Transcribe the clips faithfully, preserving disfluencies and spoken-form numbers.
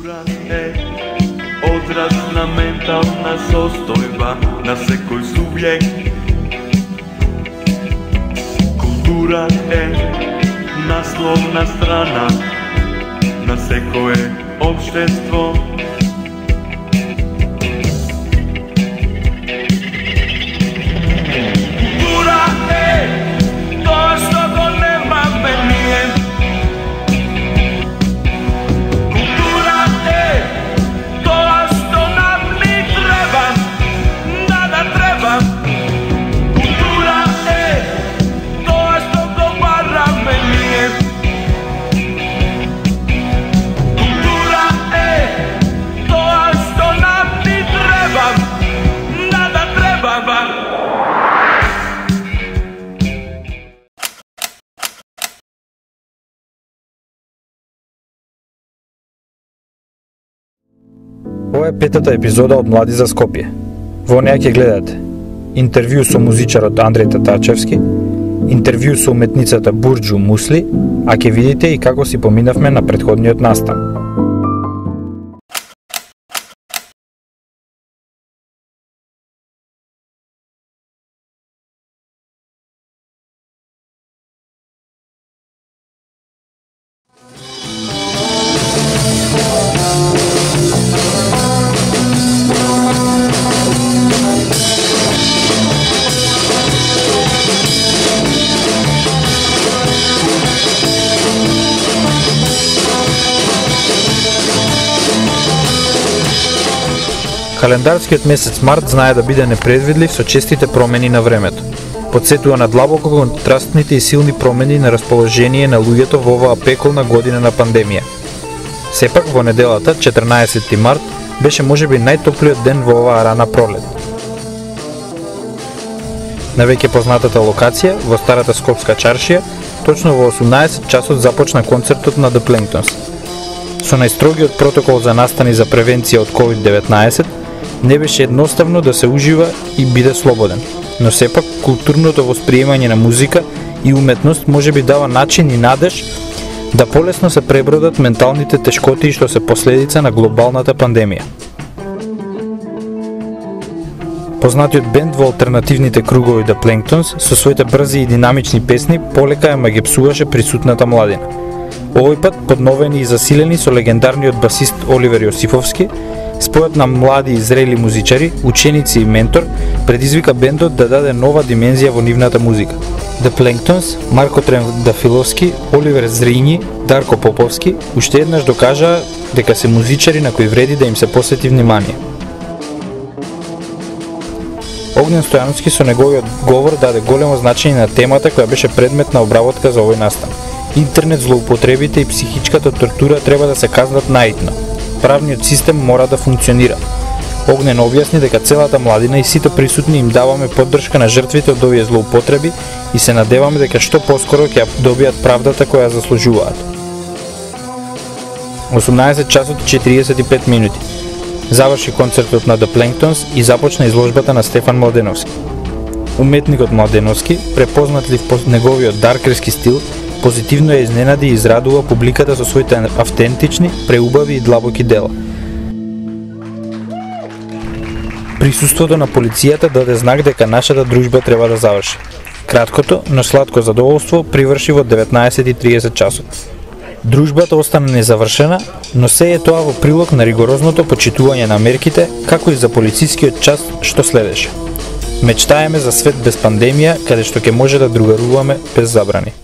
Култура е одраз на ментална состојба на секој субјект. Култура е насловна страна на секое општество. Култура е тоа што го немаме ние. Култура е тоа што нам ни треба, да да треба. Култура е тоа што го бараме ние. Култура е тоа што нам ни треба, да да треба. Ова е петата епизода од Млади за Скопје. Во неја ќе гледате интервју со музичарот Андреј Татарчевски, интервју со уметницата Бурџу Мусли, а ќе видите и како си поминавме на претходниот настан. Календарскиот месец март знае да биде непредвидлив со честите промени на времето. Подсетува на длабоко контрастните и силни промени на расположение на луѓето во оваа пеколна година на пандемија. Сепак во неделата, четрнаесетти март, беше можеби најтоплиот ден во оваа рана пролет. На веќе познатата локација, во старата скопска чаршија, точно во осумнаесет часот започна концертот на The Planktons. Со најстрогиот протокол за настани за превенција од ковид деветнаесет, не беше едноставно да се ужива и биде слободен, но сепак културното восприемање на музика и уметност може би дава начин и надеж да полесно се пребродат менталните тешкоти што се последица на глобалната пандемија. Познатиот бенд во алтернативните кругови The Planktons со своите брзи и динамични песни полека ја магепсуваше присутната младина. Овој пат подновени и засилени со легендарниот басист Оливер Јосифовски, спојот на млади и зрели музичари, ученици и ментор предизвика бендот да даде нова димензија во нивната музика. The Planktons, Марко Трендафиловски, Оливер Зринји, Дарко Поповски уште еднаш докажаа дека се музичари на кои вреди да им се посвети внимание. Огнен Стојановски со неговиот говор даде големо значење на темата која беше предмет на обработка за овој настан. Интернет злоупотребите и психичката тортура треба да се казнат наитно. Правниот систем мора да функционира. Огнен објасни дека целата младина и сите присутни им даваме поддршка на жртвите од овие злоупотреби и се надеваме дека што поскоро ќе добијат правдата која заслужуваат. осумнаесет часот и четириесет и пет минути. Заврши концертот на The Planktons и започна изложбата на Стефан Младеновски. Уметникот Младеновски, препознатлив по неговиот даркерски стил, позитивно ја изненади и израдува публиката со своите автентични, преубави и длабоки дела. Присуството на полицијата даде знак дека нашата дружба треба да заврши. Краткото, но сладко задоволство приврши во деветнаесет и триесет часот. Дружбата остана незавршена, но се е тоа во прилог на ригорозното почитување на мерките, како и за полицискиот час што следеше. Мечтаеме за свет без пандемија, каде што ќе може да другаруваме без забрани.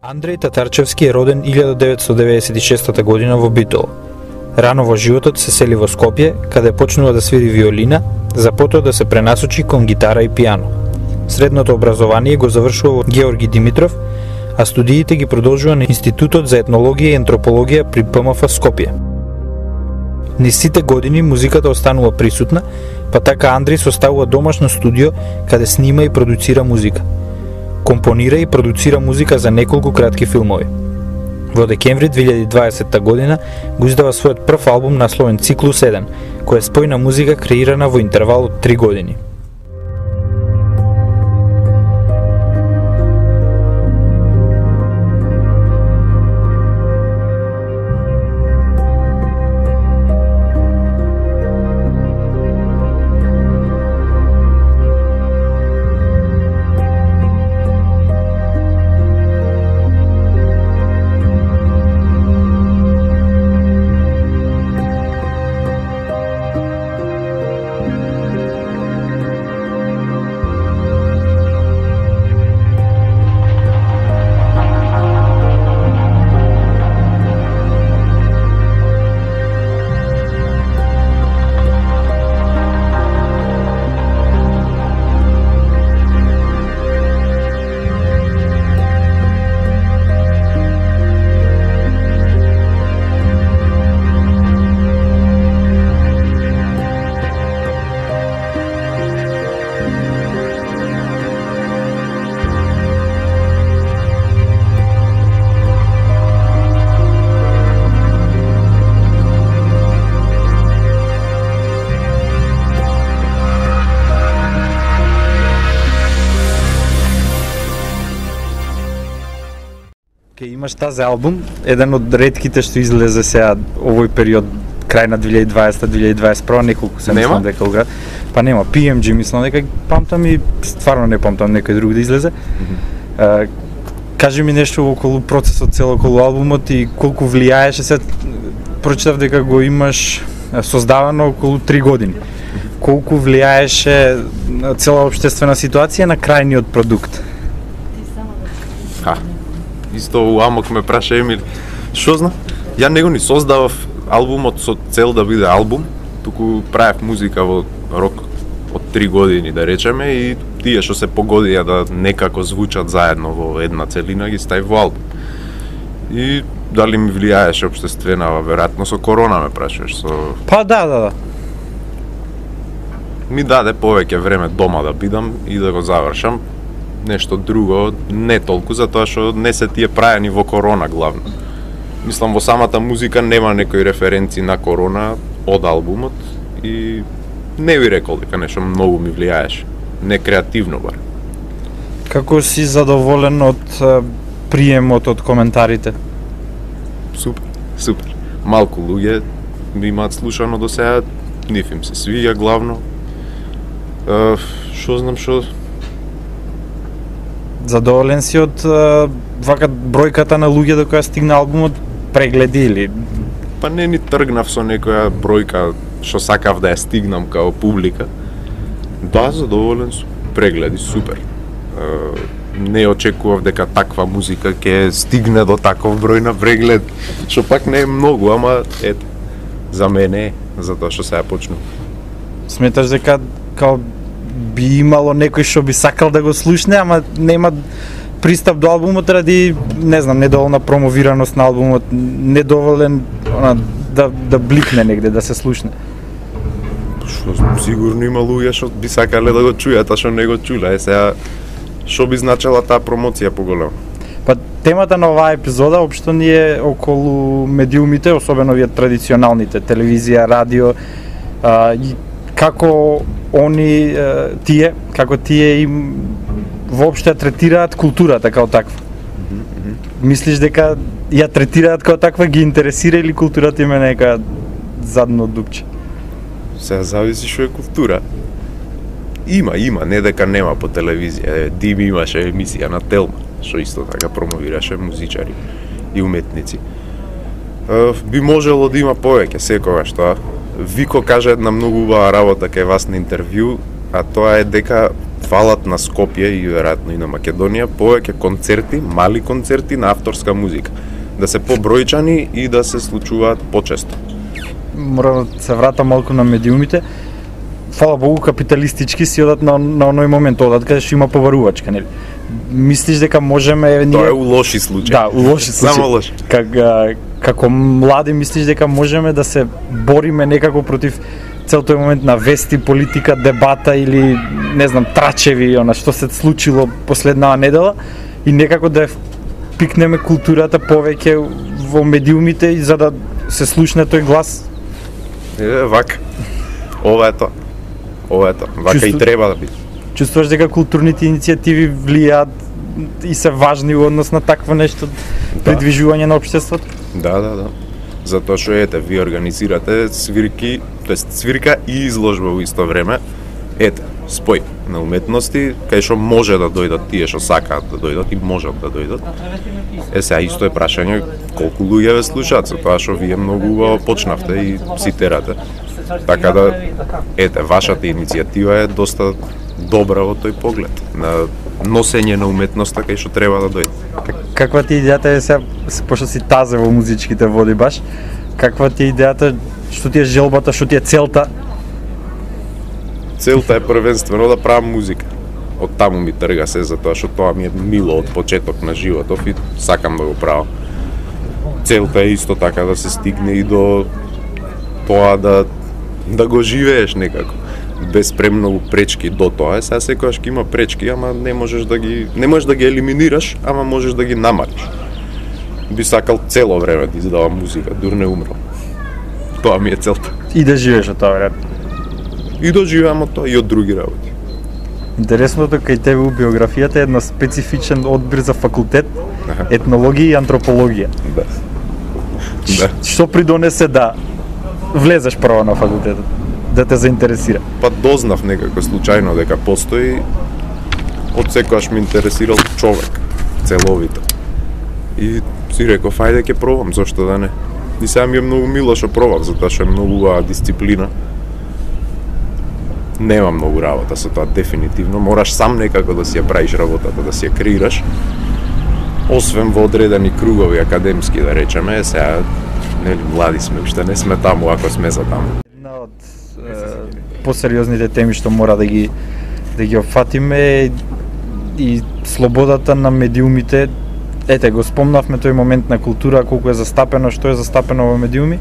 Андреј Татарчевски е роден илјада деветстотини деветдесет и шеста година во Битола. Рано во животот се сели во Скопје, каде почнува да свири виолина, за потоа да се пренасочи кон гитара и пијано. Средното образование го завршува од Георги Димитров, а студиите ги продолжува на Институтот за етнологија и антропологија при П М Ф Скопје. Низ сите години музиката останува присутна, па така Андрис оставува домашно студио каде снима и продуцира музика. Компонира и продуцира музика за неколку кратки филмови. Во декември две илјади и дваесетта година го издава својот прв албум насловен Циклус еден, која е спојна музика креирана во интервал од три години. Ке имаш тази албум, еден од ретките што излезе сега овој период, крај на две илјади и дваесетта две илјади и дваесет и прва, неколку се мислам дека уград. Па нема, Пи Ем Джи мислам дека памтам и стварно не памтам некој друг да излезе. Mm-hmm. Uh, кажи ми нешто околу процесот цел околу албумот и колку влијаеше, се прочитав дека го имаш создавано околу три години. Mm-hmm. Колку влијаеше цела општествена ситуација на крајниот продукт? Ха. Исто у Амок ме праша Емил, шо знам, ја него ни создавав албумот со цел да биде албум, туку правев музика во рок од три години, да речеме, и тие што се погодија да некако звучат заедно во една целина, ги ставив во албум. И дали ми влијаеше општествена, веројатно со корона ме прашуваш, со... Па да, да, да. Ми даде повеќе време дома да бидам и да го завршам. Нешто друго, не толку, затоа што не се тие прајани во корона главно. Мислам, во самата музика нема некои референци на корона од албумот и не би рекол дека нешто многу ми влијаеше. Не креативно бар. Како си задоволен од приемот од коментарите? Супер, супер. Малку луѓе ми имаат слушано до сега, нив им се свиѓа главно. Шо знам шо... Задоволен си од вака бројката на луѓе до која стигна албумот, прегледи или? Па не ни тргнав со некоја бројка што сакав да ја стигнам као публика. Да, задоволен сум. Прегледи супер. Не очекував дека таква музика ќе стигне до таков број на преглед, што пак не е многу, ама ете, за мене е, затоа што сега почнува. Сметаш дека као би имало некој што би сакал да го слушне, ама нема пристап до албумот ради, не знам, недоволна промовираност на албумот, недоволен она, да, да бликне негде, да се слушне? Што знам, сигурно има луѓе што би сакале да го чујат, а што не го чуле. Е, сега, што би значела таа промоција поголема? Па темата на оваа епизода општо ни е околу медиумите, особено овие традиционалните, телевизија, радио, а, и како они, тие, како тие им воопште третираат културата као таква. Mm-hmm. Мислиш дека ја третираат као таква, ги интересира или културата има нека задно дупче? Сега зависи што е култура. Има, има, не дека нема по телевизија. Дим имаше емисија на Телма, што исто така промовираше музичари и уметници. Би можело да има повеќе секогаш тоа. Вико каже една многу убава работа кај вас на интервју, а тоа е дека фалат на Скопје и веројатно и на Македонија повеќе концерти, мали концерти на авторска музика, да се побројчани и да се случуваат почесто. Мора да се вратам малку на медиумите. фала Богу, капиталистички си одат на, на оној момент, одат каде што има поварувачка, нели? Мислиш дека можеме ние... Тоа е у лоши случаи. Да, у лоши случаи. Само лоши. Как, како млади мислиш дека можеме да се бориме некако против цел тој момент на вести, политика, дебата или не знам, трачеви, она што се случило последнава недела и некако да пикнеме културата повеќе во медиумите и за да се слушне тој глас? Е, вака. Ова е тоа. Ова е тоа. Вака Чувству... и треба да биде. Чувствуваш дека културните иницијативи влијаат и се важни во однос на такво нешто, да. Придвижување на општеството? Да, да, да. Затоа што ете, ви организирате свирки, тоест свирка и изложба во исто време. Ете, спој на уметности, кај што може да дојдат тие што сакаат да дојдат и можат да дојдат. Е, сега исто е прашање колку луѓе ве слушаат, со тоа што вие многу убаво почнавте и цитирате. Така да, ете, вашата иницијатива е доста добра во тој поглед, на носење на уметноста кај што треба да дојде. Каква ти е идејата е сега, пошто си тазе во музичките води баш, каква ти е идејата, што ти е желбата, што ти е целта? Целта е првенствено да правам музика. Од таму ми трга се, затоа што тоа ми е мило од почеток на животов и сакам да го правам. Целта е исто така да се стигне и до тоа да да го живееш некако. Без премногу пречки до тоа. Сега секогаш ќе има пречки, ама не можеш да ги не можеш да ги елиминираш, ама можеш да ги намалиш. Би сакал цело време да издавам музика, дур не умрал. Тоа ми е целта. И да живееш од тоа, веројатно. И да живеам од тоа и од други работи. Интересното кај тебе у биографијата е едно специфичен одбир за факултет, аха, етнологија и антропологија. Да. Да. Што придонесе да влезеш прво на факултетот, да те заинтересира? Па дознав некако случајно дека постои, од секогаш ме интересирал човек, целовито. И си реков, ајде ќе пробам, зошто да не. И сега ми е многу мило што пробав, затоа што е многу убава дисциплина. Нема многу работа со тоа, дефинитивно. Мораш сам некако да си ја правиш работата, да си ја креираш. Освен во одредени кругови академски, да речеме, сега, нели, млади сме, уште не сме таму, ако сме за таму. Една од е, посериозните теми што мора да ги да ги опфатиме и слободата на медиумите. Ете, го спомнавме тој момент на култура, колку е застапено, што е застапено во медиуми.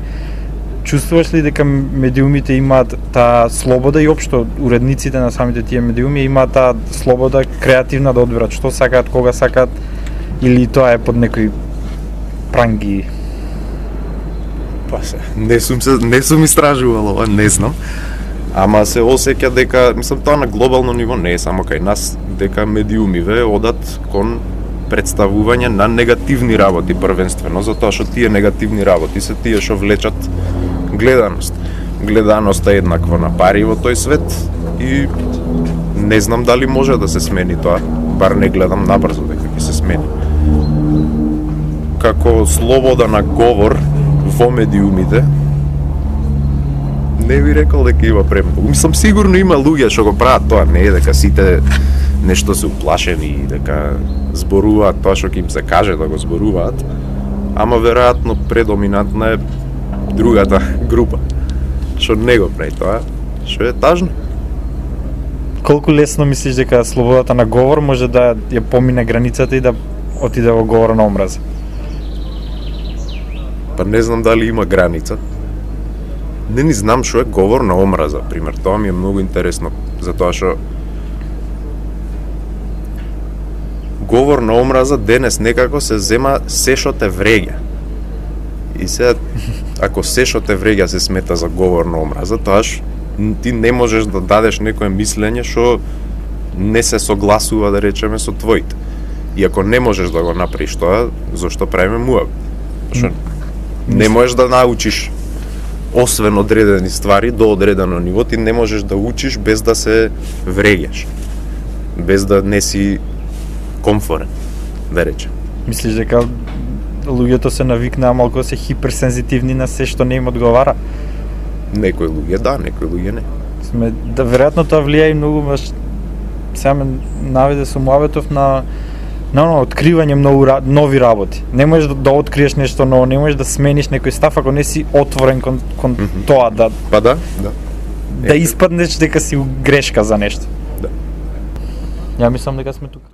Чувствуваш ли дека медиумите имаат таа слобода и општо уредниците на самите тие медиуми имаат таа слобода креативна да одберат што сакаат, кога сакаат, или тоа е под некои пранги? Па се, не сум се не сум истражувал ова, не знам. Ама се осеќа дека, мислам, тоа на глобално ниво не е само кај нас, дека медиумиве одат кон представување на негативни работи првенствено, затоа што тие негативни работи се тие што влечат гледаност. Гледаноста е еднакво на пари во тој свет и не знам дали може да се смени тоа, бар не гледам набрзо дека ќе се смени. Како слобода на говор во медиумите, не би рекол дека има премногу. Мислам, сигурно има луѓе што го прават тоа, не е дека сите нешто се уплашени и дека зборуваат тоа што ќе им се каже да го зборуваат, ама веројатно предоминантна е другата група, што не го прави тоа, што е тажно. Колку лесно мислиш дека слободата на говор може да ја помине границата и да отиде во говор на омраза? Па не знам дали има граница. Не ни знам што е говор на омраза, пример. Тоа ми е многу интересно, затоа што говор на омраза денес некако се зема се што те вреѓа. И сега, ако се што те вреѓа се смета за говор на омраза, тоаш ти не можеш да дадеш некое мислење што не се согласува, да речеме, со твоите. И ако не можеш да го направиш тоа, зошто правиме муабет? Што не можеш да научиш освен одредени ствари до одредено ниво, ти не можеш да учиш без да се вреѓаш, без да не си комфорен, да речем. Мислиш дека луѓето се навикнаа малку да се хиперсензитивни на се што не им одговара? Некои луѓе да, некои луѓе не. Сме, да, веројатно тоа влијае и многу, баш сега ме наведе со муабетов на на оно откривање многу нови работи. Не можеш да, да откриеш нешто ново, не можеш да смениш некој став ако не си отворен кон, кон mm-hmm. тоа да. Па да, да. да испаднеш дека си грешка за нешто. Да. Ја мислам дека сме тука.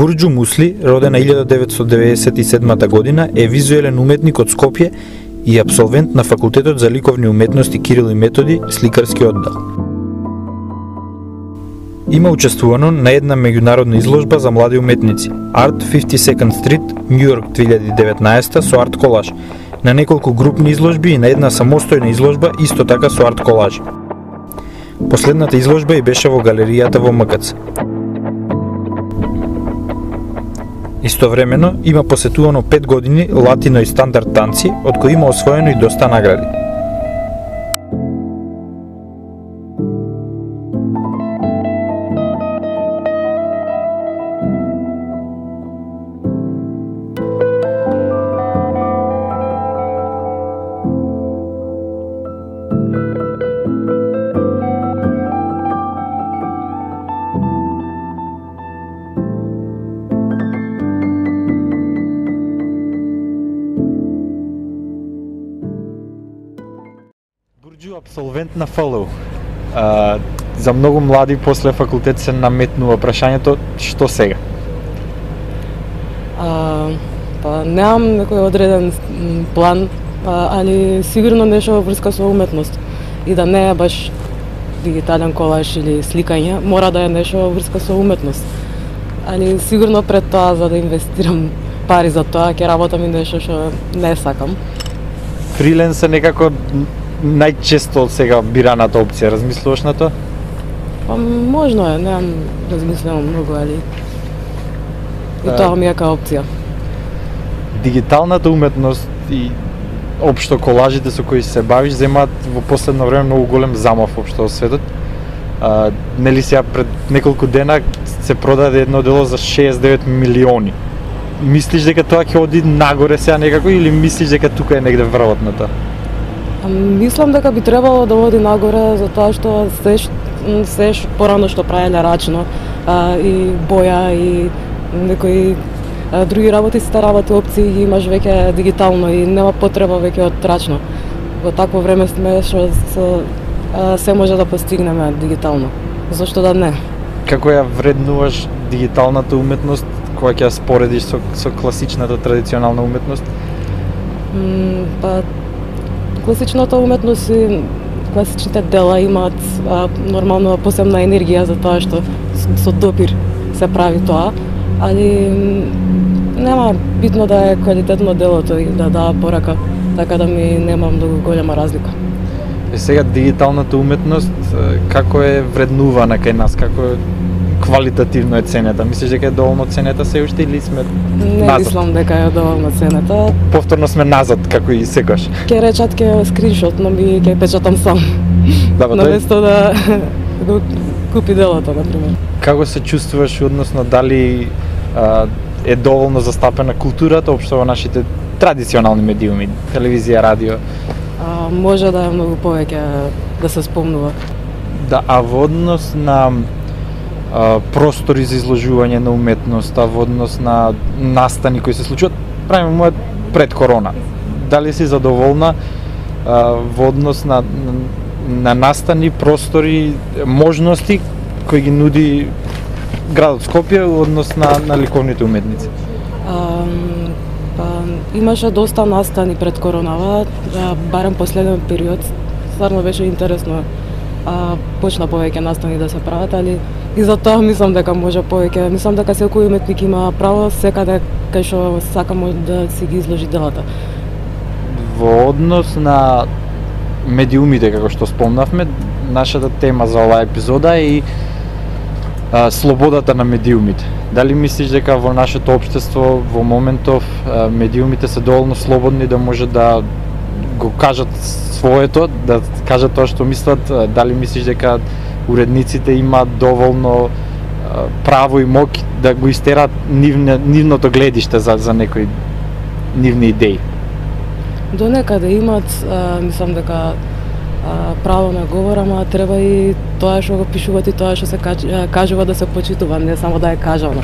Бурџу Мусли, роден на илјада деветстотини деветдесет и седма година, е визуелен уметник од Скопје и апсолвент на Факултетот за ликовни уметности Кирил и Методи, сликарски оддел. Има учествувано на една меѓународна изложба за млади уметници, Art фифти секонд Street, Њу Јорк две илјади и деветнаесета со арт колаж, на неколку групни изложби и на една самостојна изложба исто така со арт колажи. Последната изложба и беше во галеријата во М К Ц. Истовремено има посетувано пет години латино и стандард танци, од кои има освоено и доста награди. Бурџу апсолвент на Ф Л У. А, за многу млади после факултет се наметнува прашањето што сега? А, па немам некој одреден план, а, али сигурно нешто во врска со уметност. И да не е баш дигитален колаж или сликање, мора да е нешто во врска со уметност. Али сигурно пред тоа, за да инвестирам пари за тоа, ќе работам и нешто што не сакам. Фриленс е некако најчесто од сега бираната опција, размислуваш на тоа? Па можно е, немам размислено многу, али и А... тоа ми е као опција. Дигиталната уметност и општо колажите со кои се бавиш земаат во последно време многу голем замав општо во светот. А, нели сега пред неколку дена се продаде едно дело за шеесет и девет милиони. Мислиш дека тоа ќе оди нагоре сега некако или мислиш дека тука е негде врвот на тоа? Мислам дека би требало да оди нагоре, затоа што се се порано што правеле рачно, а, и боја и некои а, други работи, сите работи опции ги имаш веќе дигитално и нема потреба веќе од рачно. Во такво време сме што се може да постигнеме дигитално. Зошто да не? Како ја вреднуваш дигиталната уметност кога ќе ја споредиш со, со класичната традиционална уметност? М, па класичната уметност и класичните дела имаат а, нормално посебна енергија за тоа што со допир се прави тоа, али нема битно да е квалитетно делото и да дава порака, така да ми нема многу голема разлика. И сега дигиталната уметност како е вреднувана кај нас, како е квалитативно е ценета? Мислиш дека е доволно ценета се уште или сме Не назад? мислам дека е доволно ценета. Повторно сме назад, како и секогаш. Ке речат ке скриншот, но ми ке печатам сам. Да, ба, тој... Наместо да го купи делото, например. Како се чувствуваш, односно дали а, е доволно застапена културата општо во нашите традиционални медиуми, телевизија, радио? А, може да е многу повеќе да се спомнува. Да, а во однос на а, простори за изложување на уметност, а во однос на настани кои се случуваат, правиме мојот пред корона. Дали си задоволна а, во однос на, на, на настани, простори, можности кои ги нуди градот Скопје во однос на, на ликовните уметници? А, па, имаше доста настани пред коронава, а, барем последен период, стварно беше интересно. А, почна повеќе настани да се прават, али и за тоа мислам дека може повеќе. Мислам дека секој уметник има право секаде кај што сака може да си ги изложи делата. Во однос на медиумите, како што спомнавме, нашата тема за оваа епизода е и а, слободата на медиумите. Дали мислиш дека во нашето општество во моментов а, медиумите се доволно слободни да може да го кажат своето, да кажат тоа што мислат? Дали мислиш дека уредниците имаат доволно а, право и моќ да го истерат нивне, нивното гледиште за, за некои нивни идеи? До некаде имат, а, мислам дека а, право на говор, ама треба и тоа што го пишуваат и тоа што се кажува да се почитува, не само да е кажано.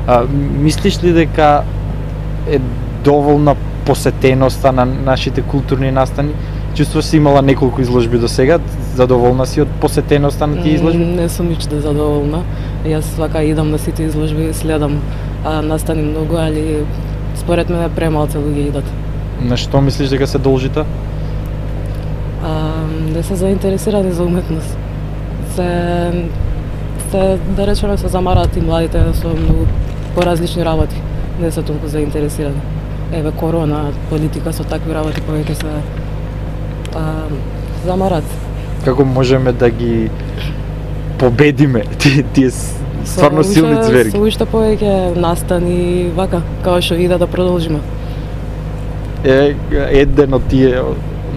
А, мислиш ли дека е доволна посетеноста на нашите културни настани? Чувствуваш си имала неколку изложби до сега, задоволна си од посетеноста на тие изложби? Не сум ништо задоволна. Јас свака идам на сите изложби, следам а, настани многу, али според мене премалце луѓе идат. На што мислиш дека се должите? А, не се заинтересирани за уметност. Се, се да речеме, се замараат и младите со многу поразлични работи. Не се толку заинтересирани. Еве корона, политика, со такви работи повеќе се а, замарат. Како можеме да ги победиме тие, тие стварно Со силни уште- зверги? Со уште повеќе настани вака, како што иде да продолжиме. Е, еден од тие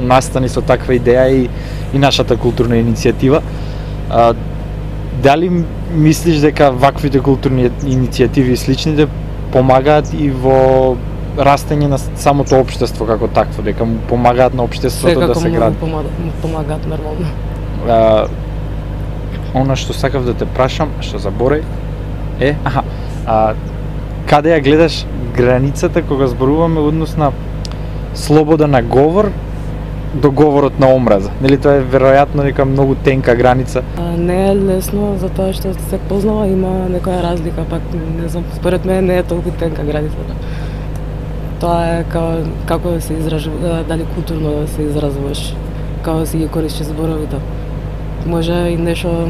настани со таква идеја и, и нашата културна иницијатива. А, дали мислиш дека ваквите културни иницијативи и сличните помагаат и во растење на самото општество како такво, дека му помагаат на општеството да се гради? Секако му помагаат нормално. А, она што сакав да те прашам, што заборај, е, аха, а, каде ја гледаш границата кога зборуваме однос на слобода на говор до говорот на омраза? Нели тоа е веројатно нека многу тенка граница? А, не е лесно, затоа што се познава, има некоја разлика, пак не знам, според мене не е толку тенка границата. Тоа е како, како да се изражува, дали културно да се изразуваш, како да си ги користиш зборовите. Може и нешто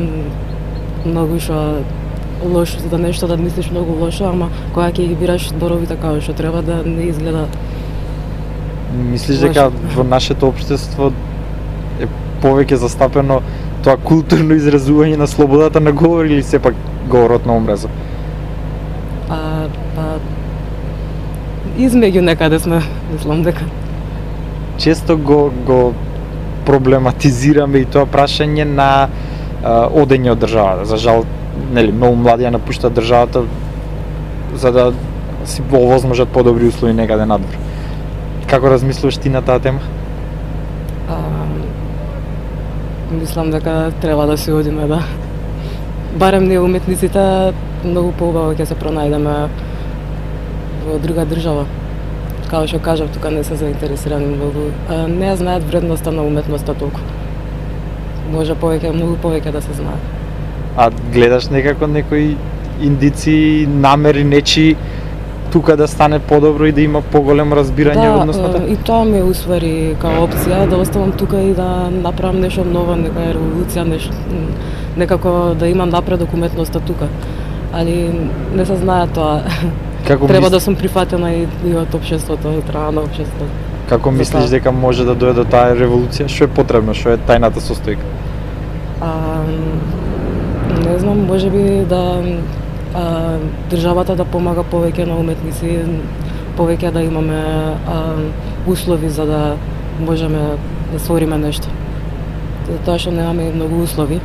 многу што лошо, да нешто да мислиш многу лошо, ама кога ќе ги бираш зборовите како што треба, да не изгледа. Мислиш дека во нашето општество е повеќе застапено тоа културно изразување на слободата на говор или сепак говорот на омраза? А, па, измеѓу некаде сме, мислам дека. Често го го проблематизираме и тоа прашање на а, одење од државата. За жал, нели, многу млади ја напуштаат државата за да си овозможат подобри услови некаде надвор. Како размислуваш ти на таа тема? А, мислам дека треба да се одиме, да. Барем ние уметниците многу поубаво ќе се пронајдеме во друга држава. Како што кажав, тука не се заинтересирани многу. А, не знаат вредноста на уметноста толку. Може повеќе, многу повеќе да се знае. А гледаш некако некои индици, намери нечи тука да стане подобро и да има поголемо разбирање Да, односно е, и тоа ме усвари као опција да оставам тука и да направам нешто ново, некоја револуција, нешто некако да имам напредок уметноста тука. Али не се знае тоа. Како Треба мис... да сум прифатена и, и од општеството, од страна на општеството. Како За мислиш тоа. дека може да дојде до таа револуција? Што е потребно? Што е тајната состојка? А, не знам, можеби да а, државата да помага повеќе на уметници, повеќе да имаме а, услови за да можеме да створиме нешто. Затоа што немаме и многу услови.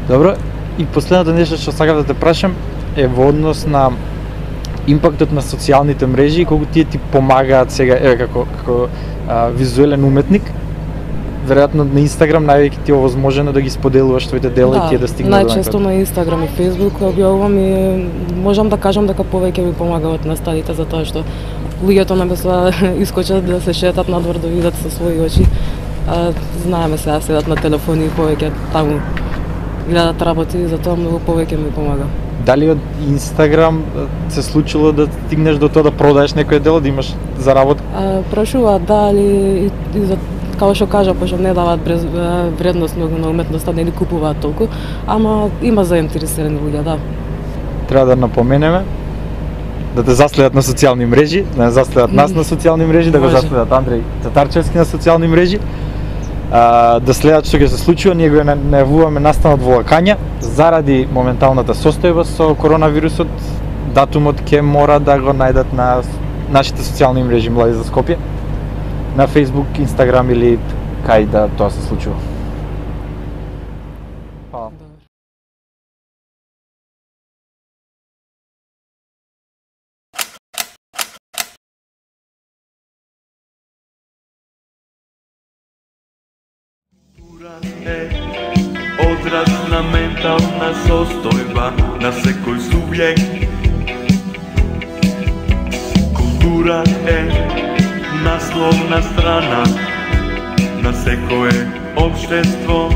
Добро, и последното нешто што сакам да те прашам е во однос на импактот на социјалните мрежи и колку тие ти помагаат сега, еве како како а, визуелен уметник. Веројатно на Инстаграм највеќе ти е овозможено да ги споделуваш твоите дела и тие да стигнат до најчесто на Инстаграм и Фејсбук објавувам и можам да кажам дека повеќе ми помагаат наставите затоа што луѓето наместо да искочат да се шетат надвор да видат со своји очи, а, знаеме сега седат на телефони и повеќе таму гледат работи и затоа многу повеќе ми помага. Дали од Инстаграм се случило да стигнеш до тоа да продаеш некој дело, да имаш заработка? А, прашуваат дали и, и за како што кажа, пошто не даваат брез, вредност многу на уметноста, не ли купуваат толку, ама има заинтересирани луѓе, да. Треба да напоменеме да те заследат на социјални мрежи, да не заследат нас на социјални мрежи, да го Може. заследат Андреј Татарчевски на социјални мрежи, а, да следат што ќе се случува. Ние го најавуваме настанот во Лакања заради моменталната состојба со коронавирусот. Датумот ќе мора да го најдат на нашите социјални мрежи Млади за Скопје, на Facebook, Instagram или кај да тоа се случува. Хвала. Е одраз на ментална состојба на секој субјект. Култура е насловна страна на секое општество.